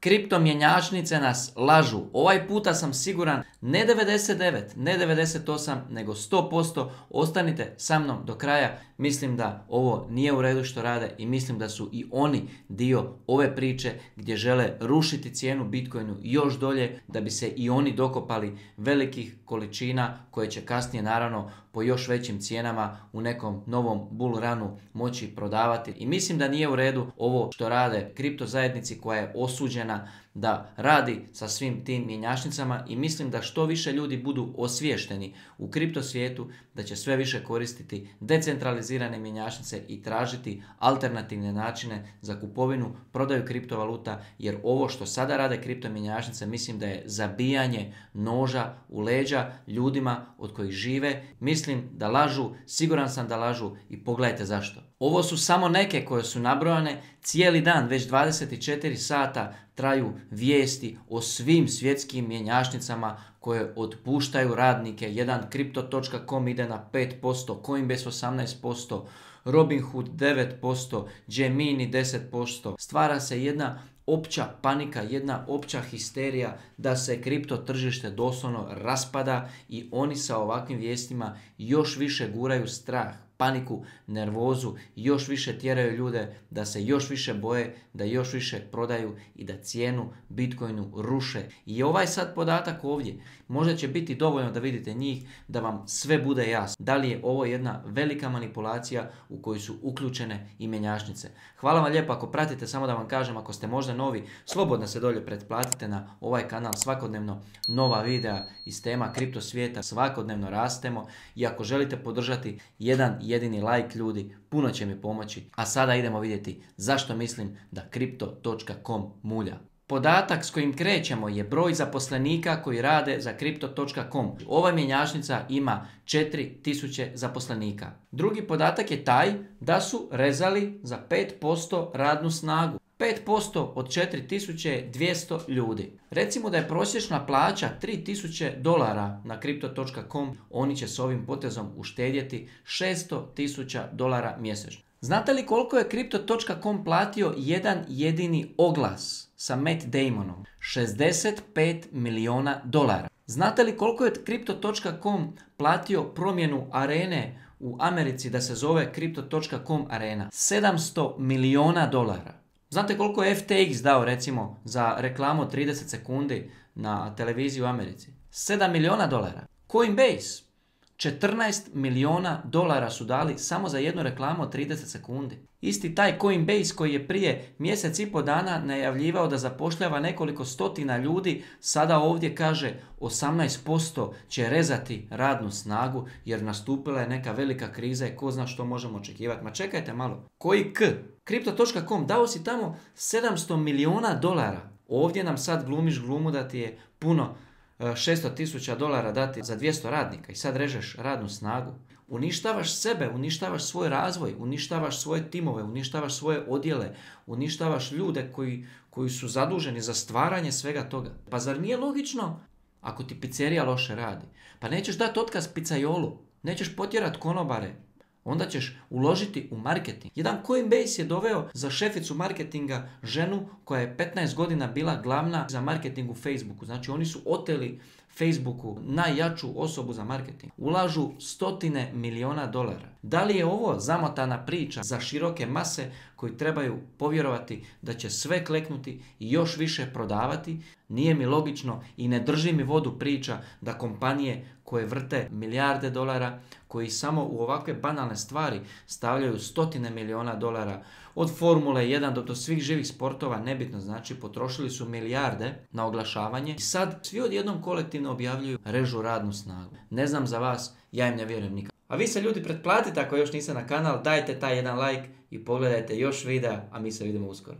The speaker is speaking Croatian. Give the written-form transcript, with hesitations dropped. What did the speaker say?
Kriptomjenjačnice nas lažu. Ovaj puta sam siguran ne 99, ne 98, nego 100%. Ostanite sa mnom do kraja. Mislim da ovo nije u redu što rade i mislim da su i oni dio ove priče gdje žele rušiti cijenu Bitcoinu još dolje da bi se i oni dokopali velikih količina koje će kasnije naravno po još većim cijenama u nekom novom bull runu moći prodavati. I mislim da nije u redu ovo što rade kripto zajednici koja je osuđena da radi sa svim tim mjenjačnicama i mislim da što više ljudi budu osviješteni u kripto svijetu, da će sve više koristiti decentralizirane mjenjačnice i tražiti alternativne načine za kupovinu, prodaju kriptovaluta, jer ovo što sada rade kripto mjenjačnice mislim da je zabijanje noža u leđa ljudima od kojih žive. Mislim da lažu, siguran sam da lažu i pogledajte zašto. Ovo su samo neke koje su nabrojane. Cijeli dan, već 24 sata traju vijesti o svim svjetskim mjenjačnicama koje otpuštaju radnike. Jedan Crypto.com ide na 5%, Coinbase 18%, Robinhood 9%, Gemini 10%. Stvara se jedna opća panika, jedna opća histerija da se kripto tržište doslovno raspada i oni sa ovakvim vijestima još više guraju strah, paniku, nervozu, još više tjeraju ljude da se još više boje, da još više prodaju i da cijenu Bitcoinu ruše. I ovaj sad podatak ovdje možda će biti dovoljno da vidite njih, da vam sve bude jasno. Da li je ovo jedna velika manipulacija u koju su uključene i mjenjačnice. Hvala vam lijepo ako pratite, samo da vam kažem, ako ste možda novi, slobodno se dolje pretplatite na ovaj kanal, svakodnevno nova videa iz tema kripto svijeta, svakodnevno rastemo i ako želite podržati jedan jedini like ljudi, puno će mi pomoći. A sada idemo vidjeti zašto mislim da Crypto.com mulja. Podatak s kojim krećemo je broj zaposlenika koji rade za Crypto.com. Ova mjenjačnica ima 4000 zaposlenika. Drugi podatak je taj da su rezali za 5% radnu snagu. 5% od 4200 je 200 ljudi. Recimo da je prosječna plaća $3000 na Crypto.com, oni će s ovim potezom uštedjeti $600,000 mjesečno. Znate li koliko je Crypto.com platio jedan jedini oglas sa Matt Damonom? $65 milijuna. Znate li koliko je Crypto.com platio promjenu arene u Americi da se zove Crypto.com arena? $700 milijuna. Znate koliko je FTX dao recimo za reklamu od 30 sekundi na televiziji u Americi? $7 milijuna. Coinbase, $14 milijuna su dali samo za jednu reklamu od 30 sekundi. Isti taj Coinbase koji je prije mjesec i pol dana najavljivao da zapošljava nekoliko stotina ljudi, sada ovdje kaže 18% će rezati radnu snagu jer nastupila je neka velika kriza i ko zna što možemo očekivati. Ma čekajte malo, koji Crypto.com dao si tamo $700 milijuna. Ovdje nam sad glumiš glumu da ti je puno $600,000 dati za 200 radnika i sad režeš radnu snagu. Uništavaš sebe, uništavaš svoj razvoj, uništavaš svoje timove, uništavaš svoje odjele, uništavaš ljude koji su zaduženi za stvaranje svega toga. Pa zar nije logično ako ti pizzerija loše radi? Pa nećeš dati otkaz pizzajolu, nećeš potjerat konobare, onda ćeš uložiti u marketing. Jedan Coinbase je doveo za šeficu marketinga ženu koja je 15 godina bila glavna za marketing u Facebooku. Znači oni su oteli Facebooku najjaču osobu za marketing. Ulažu $100 milijuna. Da li je ovo zamotana priča za široke mase koji trebaju povjerovati da će sve kleknuti i još više prodavati? Nije mi logično i ne drži mi vodu priča da kompanije koje vrte milijarde dolara, koji samo u ovakve banalne stvari stavljaju $100 milijuna, od Formule 1 do svih živih sportova, nebitno, znači potrošili su milijarde na oglašavanje i sad svi odjednom kolektivno objavljuju režu radnu snagu. Ne znam za vas, ja im ne vjerujem nikad. A vi se ljudi pretplatite ako još niste na kanal, dajte taj jedan like i pogledajte još videa, a mi se vidimo uskoro.